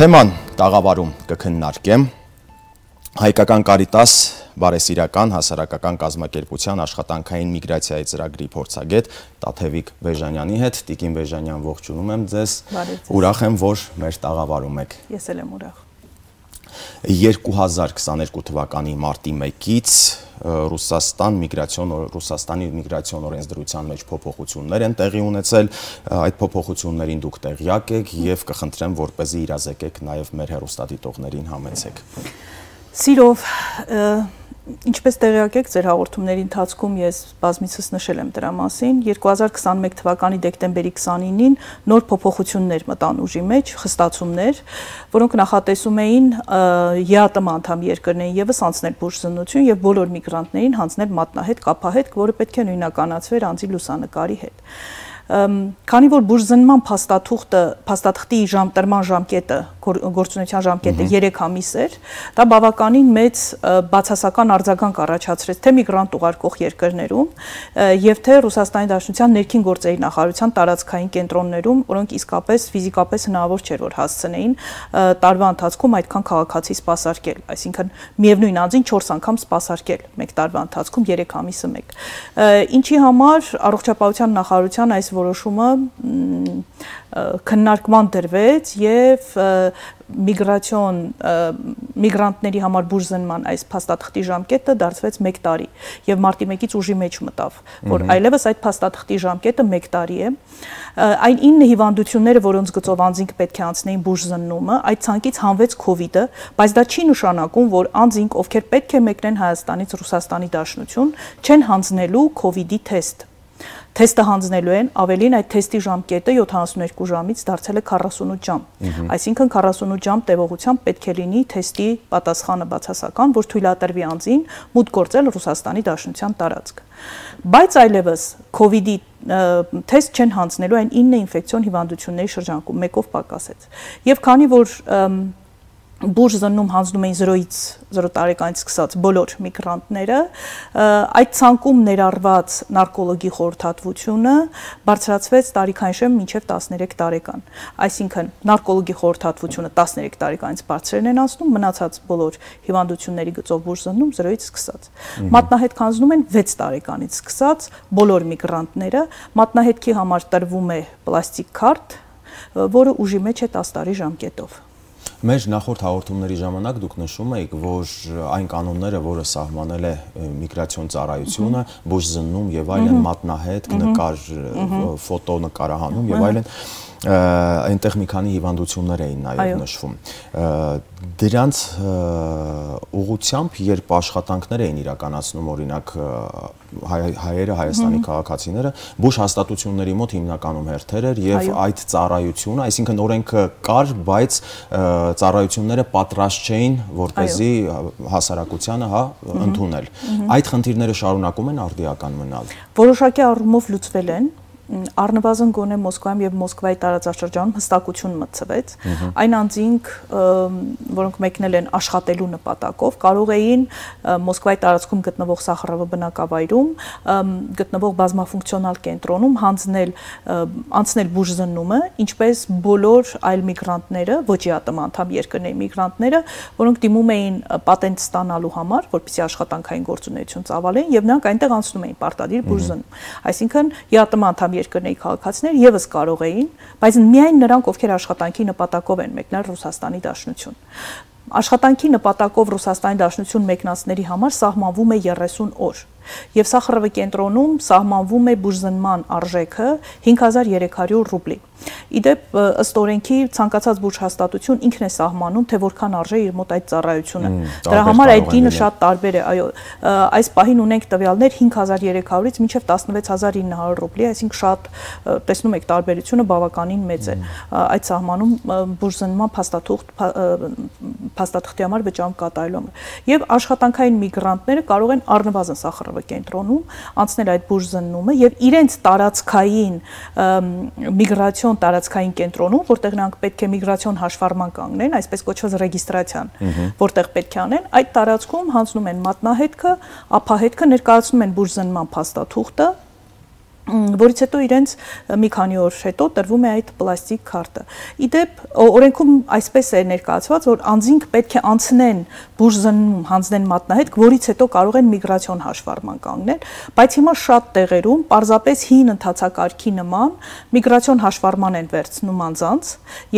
Թեման տաղավարում կքննարկեմ Հայկական Կարիտաս բարեսիրական հասարակական կազմակերպության աշխատանքային միգրացիայի ծրագրի փորձագետ Տաթևիկ Բեժանյանի հետ։ Տիկին Բեժանյան, ողջունում եմ ձեզ։ Ուրախ եմ, որ մեր տաղավարում եք։ Ես էլ եմ ուրախ։ 2022 թվականի մարտի 1-ից Ռուսաստանի միգրացիոն օրենսդրության մեջ փոփոխություններ են տեղի ունեցել, այդ փոփոխություններին դուք տեղյակ եք եւ կխնդրեմ, որպեսզի իրազեկեք նաեւ մեր հեռուստադիտողներին համեցեք։ Սիրով, ինչպես տեղյակ եք, ձեր հաղորդումների ընթացքում ես բազմիցս նշել եմ դրա մասին, 2021 թվականի դեկտեմբերի 29-ին նոր փոփոխություններ մտան ուժի մեջ, խստացումներ, որոնք նախատեսում էին ԵԱՏՄ անդամ երկրներին ևս անցնել բուժզննություն եւ բոլոր միգրանտներին հանձնել մատնահետ, կապահետ, որը պետք է նույնականացվեր անձի լուսանկարի հետ։ Քանի որ բուժզննման փաստաթղթի տրման ժամկետը, գործունեության ժամկետը 3 ամիս էր, դա բավականին մեծ բացասական արձագանք առաջացրեց թե միգրանտ ուղարկող երկրներում եւ թե Ռուսաստանի Դաշնության ներքին գործերի նախարարության տարածքային կենտրոններում, որոնք իսկապես ֆիզիկապես հնարավոր չէր որ հասցնեին տարվա ընթացքում այդքան քաղաքացի սպասարկել, այսինքն միևնույն անձին 4 անգամ սպասարկել մեկ տարվա ընթացքում 3 ամիսը մեկ։ Ինչի համար առողջապահության նախարարության այս որոշումը քննարկման դրվեց եւ միգրանտների համար բուժզննման այս փաստաթղթի ժամկետը դարձվեց 1 տարի եւ մարտի 1-ից ուժի մեջ մտավ, որ այլևս այդ փաստաթղթի ժամկետը 1 տարի է։ Այն 9 հիվանդությունները, որոնց գծով անձինք պետք է անցնեին բուժզննումը, այդ ցանկից հանվեց COVID-ը, բայց դա չի նշանակում, որ անձինք, ովքեր պետք է մեկնեն Հայաստանից Ռուսաստանի Դաշնություն, չեն հանձնելու COVID-ի թեստ։ Թեստը հանձնելու են, ավելին այդ թեստի ժամկետը 72 ժամից դարձել է 48 ժամ։ Այսինքն 48 ժամ տևողությամբ պետք է լինի թեստի պատասխանը բացասական, որ թույլատրվի անձին մուտք գործել Ռուսաստանի Դաշնության տարածք։ Բայց այլևս COVID-ի թեստ չեն հանձնելու այն 9 ինֆեկցիոն հիվանդությունների շրջանակում, մեկով պակասեց։ Եվ քանի որ բուժզննում հանձնում էին 0-ից 0 տարեկանից սկսած բոլոր միգրանտները, այդ ցանկում ներառված նարկոլոգի խորհրդատվությունը բարձրացվեց տարիքային շեմ մինչև 13 տարեկան։ Այսինքն նարկոլոգի խորհրդատվությունը 13 տարեկանից բարձրեն են անցնում, մնացած բոլոր հիվանդությունների գծով բուժզննում 0-ից սկսած։ Մատնահետ հանձնում են 6 տարեկանից սկսած բոլոր միգրանտները, մատնահետքի համար տրվում է պլաստիկ քարտ, որը ուժի մեջ է 10 տարի ժամկետով։ Մեր նախորդ հաղորդումների ժամանակ դուք նշում եք, որ այն կանոնները, որը սահմանել է միգրացիոն ծառայությունը, բուժզննում եւ այլն, մատնահետ, նկար, ֆոտո նկարահանում եւ այլն, այնտեղ մի քանի հիվանդություններ էին նաեւ նշվում։ Դրանց ուղղությամբ, երբ աշխատանքներ էին իրականացնում, օրինակ հայերը, Հայաստանի քաղաքացիները, բուժ հաստատությունների մոտ հիմնականում հերթեր էր եւ այդ ծառայությունը, այսինքն օրենքը կար, բայց ծառայությունները պատրաստ չէին, որպեսզի հասարակությանը ընդունել։ Այդ խնդիրները շարունակում են արդիական մնալ։ Որոշակի առումով լուծվել են։ Առնվազն գոնե Մոսկվայում եւ Մոսկվայի տարածաշրջանում հստակություն մտցվեց։ Այն անձինք, որոնք մեկնել են աշխատելու նպատակով, կարող էին Մոսկվայի տարածքում գտնվող Սախարովո բնակավայրում գտնվող բազմաֆունկցիոնալ կենտրոնում անցնել բուժզննումը, ինչպես բոլոր այլ միգրանտները, ոչ ԵԱՏՄ անդամ երկրների միգրանտները, որոնք դիմում էին պատենտ ստանալու համար, որպեսզի աշխատանքային գործունեություն ծավալեն, եւ նրանք այնտեղ անցնում էին պարտադիր բուժզննում։ Այսինքն ԵԱՏՄ անդամ երկրների քաղաքացիներ եւս կարող էին, բայց միայն նրանք, ովքեր աշխատանքի նպատակով են մեկնել Ռուսաստանի Դաշնություն։ Աշխատանքի նպատակով Ռուսաստանի Դաշնություն մեկնածների համար սահմանվում է 30 օր։ Եվ Սախարովո կենտրոնում սահմանվում է բուժզննման արժեքը 5300 ռուբլի։ Իդեպ ըստ օրենքի ցանկացած բուժհաստատություն ինքն է սահմանում, թե որքան արժե իր մոտ այդ ծառայությունը։ Դրա համար այդ գինը շատ տարբեր է, այո։ Այս պահին ունենք տվյալներ 5300-ից մինչև 16900 ռուբլի, այսինքն շատ տեսնում եք տարբերությունը բավականին մեծ է։ Այդ սահմանում բուժզննման փաստաթղթի համար վճարում կատարելու համար։ Եվ աշխատանքային միգրանտները կարող են առնվազն Սախարովո կենտրոնում անցնել այդ բուժզննումը եւ իրենց տարածքային միգրացիոն տարածքային կենտրոնում, որտեղ նրանք պետք է միգրացիոն հաշվառման կանգնեն, այսպես կոչված ռեգիստրացիան, որտեղ պետք է անեն, այդ տարածքում հանձնում են մատնահետքը, ափահետքը, ներկայացնում են բուժզննման փաստաթուղթը, որից հետո իրենց մի քանի օր հետո տրվում է այդ պլաստիկ քարտը։ Իդեպ օրենքում այսպես է ներկայացված, որ անձինք պետք է անցնեն բուժզննում հանձնեն մատնահետք, որից հետո կարող են միգրացիոն հաշվառման կանգնել, բայց հիմա շատ տեղերում պարզապես հին ընթացակարգի նման միգրացիոն հաշվառման են վերցնում անձանց,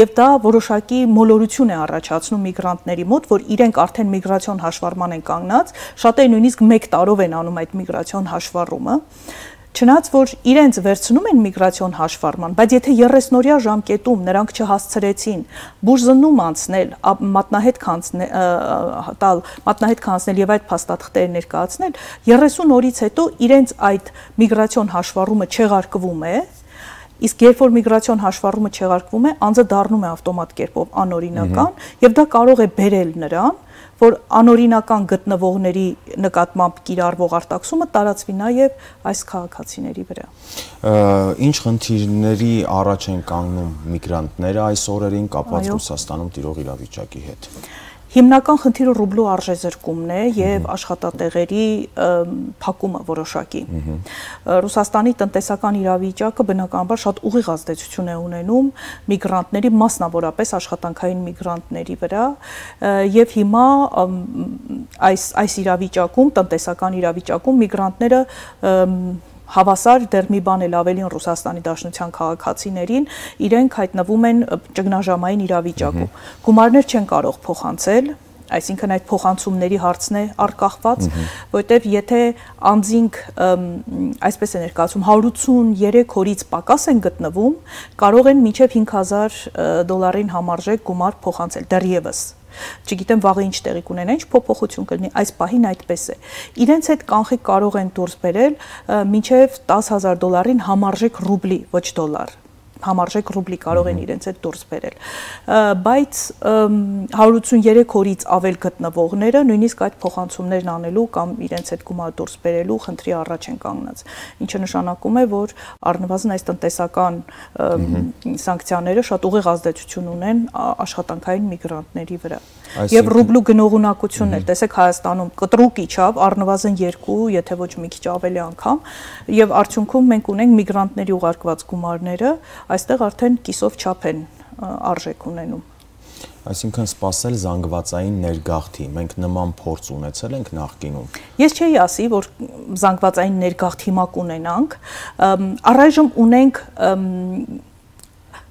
եւ դա որոշակի մոլորություն է առաջացնում միգրանտների մոտ, որ իրենք արդեն միգրացիոն հաշվառման են կանգնած, շատերը նույնիսկ 1 տարով են անում այդ միգրացիոն հաշվառումը։ Չնայած որ իրենց վերցնում են միգրացիոն հաշվառման, բայց եթե 30-օրյա ժամկետում նրանք չհասցրեցին բուժզննում անցնել, մատնահետք անցնել եւ այդ փաստաթղթերը ներկայացնել, 30 օրից հետո իրենց այդ միգրացիոն հաշվառումը չեղարկվում է, իսկ երբ որ միգրացիոն հաշվառումը չեղարկվում է, անձը դառնում է ավտոմատ կերպով անօրինական եւ դա կարող է բերել նրան, որ անօրինական գտնվողների նկատմամբ կիրառվող արտաքսումը տարածվի նաև այս քաղաքացիների վրա։ Ինչ խնդիրների առաջ են կանգնում միգրանտները այս օրերին կապված Ռուսաստանում տիրող իրավիճակի հետ։ Հիմնական խնդիրը ռուբլու արժեզրկումն է եւ աշխատատեղերի փակումը որոշակի։ Ռուսաստանի տնտեսական իրավիճակը բնականաբար շատ ուղիղ ազդեցություն է ունենում միգրանտների, մասնավորապես աշխատանքային միգրանտների վրա, եւ հիմա այս իրավիճակում, տնտեսական իրավիճակում միգրանտները հավասար դեռ մի բան էլ ավելին Ռուսաստանի Դաշնության քաղաքացիներին իրենք հայտնվում են ճգնաժամային իրավիճակում։ Գումարներ չեն կարող փոխանցել, այսինքն այդ փոխանցումների հարցն է արկախված, որտեղ եթե անձինք այսպես է ներկայացում 183 օրից պակաս են գտնվում, կարող են մինչև $5000 համարժեք գումար փոխանցել դեռևս։ Չգիտեմ վաղը ինչ տեղի կունենա, ինչ փոփոխություն կլինի, այս պահին այդպես է։ Իրենց հետ կանխիկ կարող են դուրս բերել մինչև $10,000 համարժեք ռուբլի, ոչ դոլար։ Համարժեք ռուբլի կարող են իրենց հետ դուրս բերել, բայց 183 օրից ավել գտնվողները նույնիսկ այդ փոխանցումներն անելու կամ իրենց հետ գումար դուրս բերելու խնդրի առաջ են կանգնած, ինչը նշանակում է, որ առնվազն այս տնտեսական սանկցիաները շատ ուղիղ ազդեցություն ունեն աշխատանքային միգրանտների վրա։ Եվ ռուբլու գնողունակությունն է, տեսեք Հայաստանում կտրուկ իջավ, առնվազն 2, եթե ոչ մի քիչ ավելի անգամ, եւ արդյունքում մենք ունենք միգրանտների ուղարկված գումարները այստեղ արդեն կիսով չափ են արժեք ունենում։ Այսինքն սпасել զանգվածային ներգաղթի, մենք նման փորձ ունեցել ենք նախկինում։ Ես չէի ասի, որ զանգվածային ներգաղթ հիմա կունենանք, առայժմ ունենք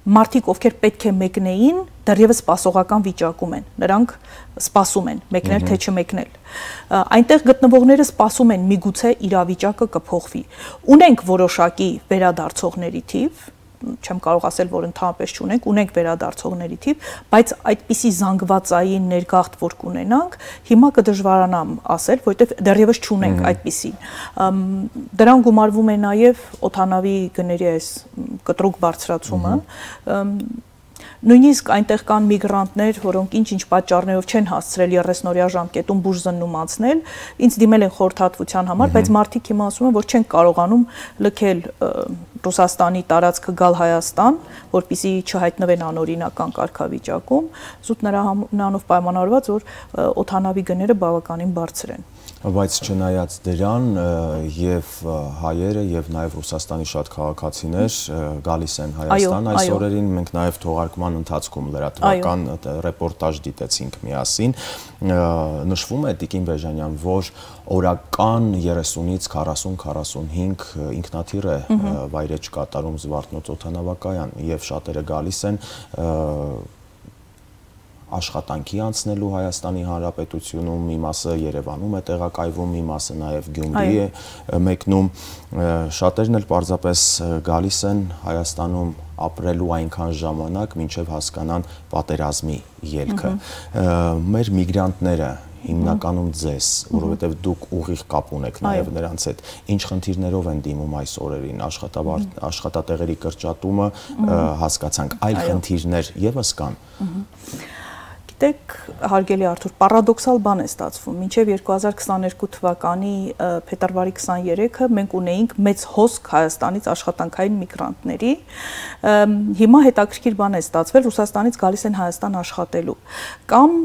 մարդիկ, ովքեր պետք է մեկնեին, դեռևս սպասողական վիճակում են, նրանք սպասում են, մեկնել թե չմեկնել։ Այնտեղ գտնվողները սպասում են, միգուցե իրավիճակը կփոխվի։ Ունենք որոշակի վերադարձողների թիվ, չեմ կարող ասել, որ ընդհանրապես չունենք, ունենք վերադարձողների թիվ, բայց այդպիսի զանգվածային ներգաղթ որ կունենանք, հիմա կդժվարանամ ասել, որովհետև դեռևս չունենք այդպիսին։ Դրան գումարվում է նաև օդանավի գների այս կտրուկ բարձրացումը, նույնիսկ այնտեղ կան միգրանտներ, որոնք ինչ-ինչ պատճառներով չեն հասցրել 30-օրյա ժամկետում բուժզննում անցնել, ինձ դիմել են խորհրդատվության համար, բայց մարդիկ հիմա ասում են, որ չեն կարողանում լքել Ռուսաստանի տարածքը գալ Հայաստան, որպեսզի չհայտնվեն անօրինական կարգավիճակում, զուտ նրանով պայմանավորված, որ օդանավի գները բավականին բարձր են։ Բայց չնայած դրան եւ հայերը եւ նաեւ Ռուսաստանի շատ քաղաքացիներ գալիս են Հայաստան այս օրերին, մենք նաեւ թողարկման ընթացքում լրատվական ռեպորտաժ դիտեցինք միասին, նշվում է Տիկին Բեժանյան, որ օրական 30-ից 40-45 ինքնաթիռ է վայրեջ կատարում Զվարթնոց օդանավակայան եւ շատերը գալիս են աշխատանքի անցնելու Հայաստանի Հանրապետությունում, մի մասը Երևանում է տեղակայվում, մի մասը նաև Գյումրի է մեկնում, շատերն էլ պարզապես գալիս են Հայաստանում ապրելու այնքան ժամանակ, մինչև հասկանան պատերազմի ելքը։ Մեր միգրանտները հիմնականում ձեզ, որովհետև դուք ուղիղ կապ ունեք նաև նրանց հետ, ինչ խնդիրներով են դիմում այս օրերին, աշխատատեղերի կրճատումը հասկացանք, այլ խնդիրներ ևս կան։ Գիտեք, հարգելի Արթուր, պարադոքսալ բան է ստացվում, մինչև 2022 թվականի փետրվարի 23-ը մենք ունեինք մեծ հոսք Հայաստանից աշխատանքային միգրանտների, հիմա հետաքրքիր բան է ստացվել, Ռուսաստանից գալիս են Հայաստան աշխատելու, կամ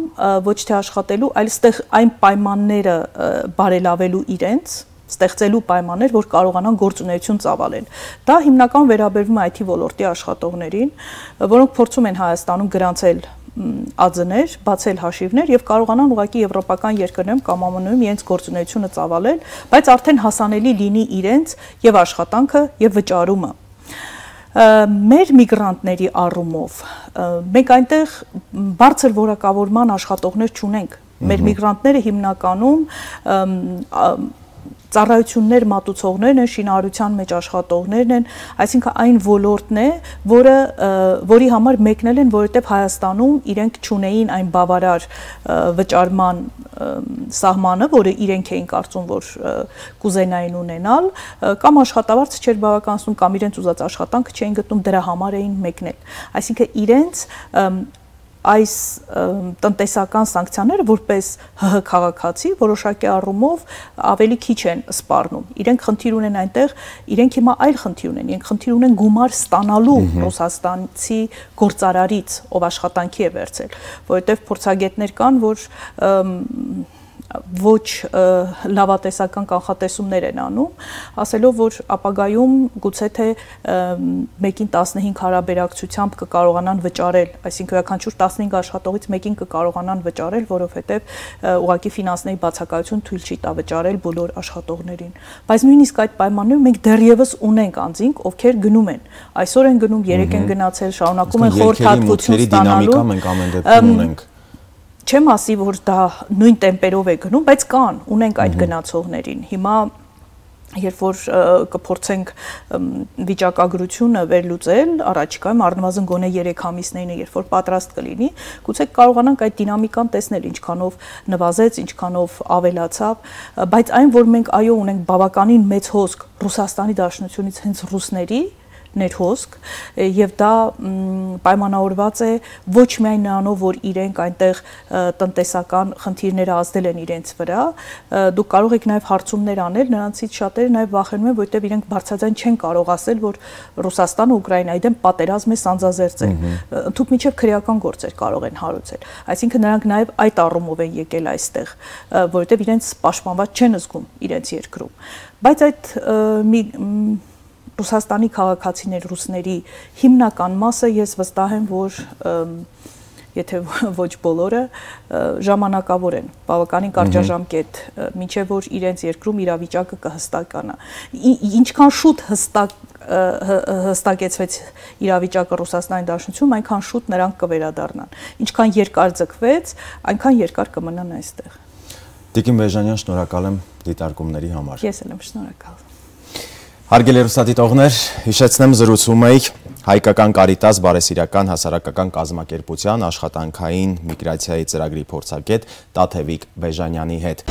ոչ թե աշխատելու, այլ այստեղ այն պայմանները բարելավելու իրենց, ստեղծելու պայմաններ, որ կարողանան գործունեություն ծավալել։ Դա հիմնական վերաբերվում է IT ոլորտի աշխատողներին, որոնք փորձում են Հայաստանում գրանցել ԱՁ-ներ, բացել հաշիվներ եւ կարողանան ուղղակի եվրոպական երկրներում կամ ԱՄՆ-ում իրենց գործունեությունը ծավալել, բայց արդեն հասանելի լինի իրենց եւ աշխատանքը եւ վճարումը։ Մեր միգրանտների առումով մենք այնտեղ բարձր որակավորման աշխատողներ չունենք։ Մեր միգրանտները հիմնականում ծառայություններ մատուցողներն են, շինարարության մեջ աշխատողներն են, այսինքն այն ոլորտն է, որի համար մեկնել են, որովհետև Հայաստանում իրենք չունեին այն բավարար վճարման սահմանը, որը իրենք էին կարծում, որ կուզենային ունենալ, կամ աշխատավարձը չէր բավականացնում, կամ իրենց ուզած աշխատանքը չէին գտնում, դրա համար էին մեկնել։ Այսինքն իրենց այս տնտեսական սանկցիաները որպես ՀՀ քաղաքացի որոշակի առումով ավելի քիչ են սպառնում։ Իրենք խնդիր ունեն այնտեղ, իրենք հիմա այլ խնդիր ունեն, իրենք խնդիր ունեն գումար ստանալու ռուսաստանցի գործարարից, ով աշխատանքի է վերցել, որովհետև փորձագետներ կան, որ ոչ լավատեսական կանխատեսումներ են անում, ասելով, որ ապագայում գուցե թե 1-ին 15 հարաբերակցությամբ կկարողանան վճարել, այսինքն յուրաքանչյուր 15 աշխատողից 1-ին կկարողանան վճարել, որովհետև ուղղակի ֆինանսների բացակայություն թույլ չի տա վճարել բոլոր աշխատողներին։ Բայց նույնիսկ այդ պայմաններում մենք դեռևս ունենք անձինք, ովքեր գնում են, այսօր են գնում, երեկ են գնացել, շարունակում են խորհրդատվություն ստանալու, մենք ամեն դեպքում ունենք։ Չեմ ասի, որ դա նույն տեմպերով է գնում, բայց կան, ունենք այդ գնացողներին։ Հիմա երբ որ կփորձենք վիճակագրությունը վերլուծել, առաջիկայում առնվազն գոնե 3 ամիսներին, երբ որ պատրաստ կլինի, գուցե կարողանանք այդ դինամիկան տեսնել, ինչքանով նվազեց, ինչքանով ավելացավ, բայց այն, որ մենք այո ունենք բավականին մեծ հոսք Ռուսաստանի Դաշնությունից հենց ռուսների ներհոսք եւ դա պայմանավորված է ոչ միայն նրանով, որ իրենք այնտեղ տնտեսական խնդիրները ազդել են իրենց վրա, դուք կարող եք նաեւ հարցումներ անել, նրանցից շատերը նաեւ վախենում են, որովհետեւ իրենք բարձրաձայն չեն կարող ասել, որ Ռուսաստանը Ուկրաինայի դեմ պատերազմ է սանձազերծել, ընդհանուր միջև քրեական գործեր կարող են հարուցել, այսինքն նրանք նաեւ այդ առումով են եկել այստեղ, որովհետեւ իրենց պաշտպանված չեն զգում իրենց երկրում, բայց այդ Ռուսաստանի քաղաքացիներ, ռուսների հիմնական մասը ես վստահ եմ, որ եթե ոչ բոլորը ժամանակավոր են, բավականին կարճաժամկետ, մինչև որ իրենց երկրում իրավիճակը կհստականա։ Ինչքան շուտ հստակեցվեց իրավիճակը Ռուսաստանի Դաշնությունում, այնքան շուտ նրանք կվերադառնան։ Ինչքան երկար ձգվեց, այնքան երկար կմնան այստեղ։ Տիկին Բեժանյան, շնորհակալ եմ դիտարկումների համար։ Ես էլ եմ շնորհակալ։ Հարգելի հեռուստադիտողներ, հիշեցնեմ զրուցում էինք Հայկական Կարիտաս բարեսիրական հասարակական կազմակերպության աշխատանքային միգրացիայի ծրագրի փորձագետ Տաթևիկ Բեժանյանի հետ։